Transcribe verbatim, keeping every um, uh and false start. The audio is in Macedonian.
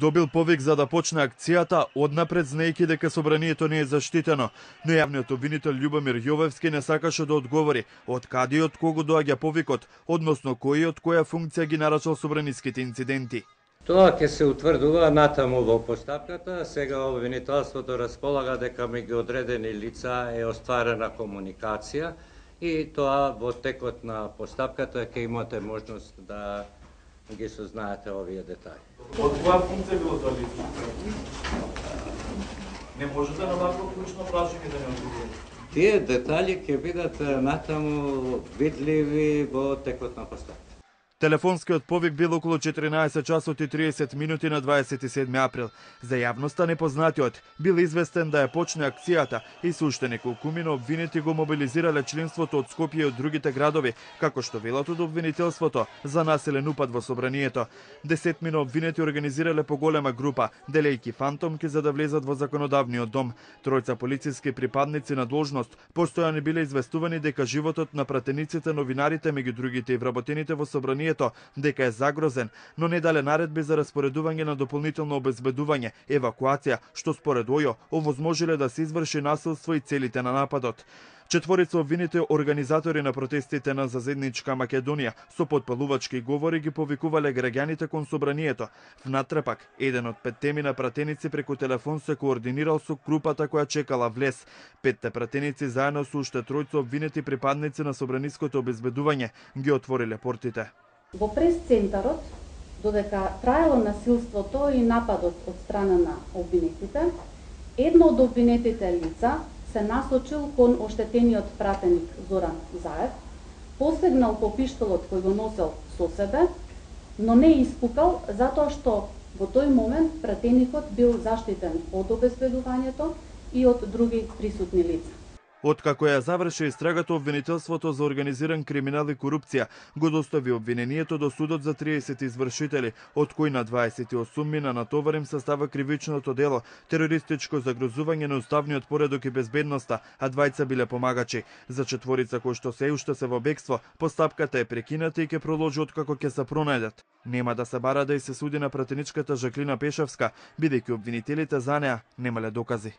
Добил повик за да почне акцијата, однапред знаејќи дека собранието не е заштитено, но јавниот обвинител Љубомир Јовевски не сакаше да одговори од каде и од кого доаѓа повикот, односно кој и од која функција ги нарачал собраниските инциденти. Тоа ќе се утврдува натаму во постапката. Сега обвинителството располага дека меѓу одредени лица е остварена комуникација и тоа во текот на постапката ќе имате можност да ги сознаете овие детали. Од која функција било тоа лице? Не можете на вакво клучно прашање да не одговорите. Тие детали ќе бидат натаму видливи во текот на постапката. Телефонскиот повик бил околу четиринаесет часот и триесет минути на дваесет и седми април. За јавноста непознатиот бил известен да ја почне акцијата и се уште неколку обвинети го мобилизирале членството од Скопје и од другите градови, како што велат од обвинителството за насилен упад во собранието. Десетмина обвинети организирале поголема група, делејќи фантомки за да влезат во законодавниот дом. Тројца полициски припадници на должност постојано биле известувани дека животот на пратениците, новинарите, меѓу другите и вработените во собранието дека е загрозен, но не дале наредби за распоредување на дополнително обезбедување, евакуација, што според ОЈО овозможиле да се изврши насилство и целите на нападот. Четворица обвинети организатори на протестите на Зазедничка Македонија со потпалувачки говори ги повикувале граѓаните кон собранието. В натрепак, еден од петте на пратеници преку телефон се координирал со групата која чекала влез. Петте пратеници заедно со уште тројца обвинети припадници на собраниското обезбедување ги отвориле портите. Во прес-центарот, додека траело насилството и нападот од страна на обвинетите, едно од обвинетите лица се насочил кон оштетениот пратеник Зоран Заев, посегнал по пиштолот кој го носел со себе, но не испукал затоа што во тој момент пратеникот бил заштитен од обезбедувањето и од други присутни лица. Откако ја заврши истрагата, обвинителството за организиран криминал и корупција го достави обвинението до судот за триесет извршители, од кои на дваесет и осум мина натоварим состава кривичното дело терористичко загрозување на уставниот поредок и безбедноста, а двајца биле помагачи. За четворица кои што се уште се во бегство, постапката е прекината и ќе продолжи откако ќе се пронајдат. Нема да се бара да и се суди на пратеничката Жаклина Пешевска, бидејќи обвинителите за неа немале докази.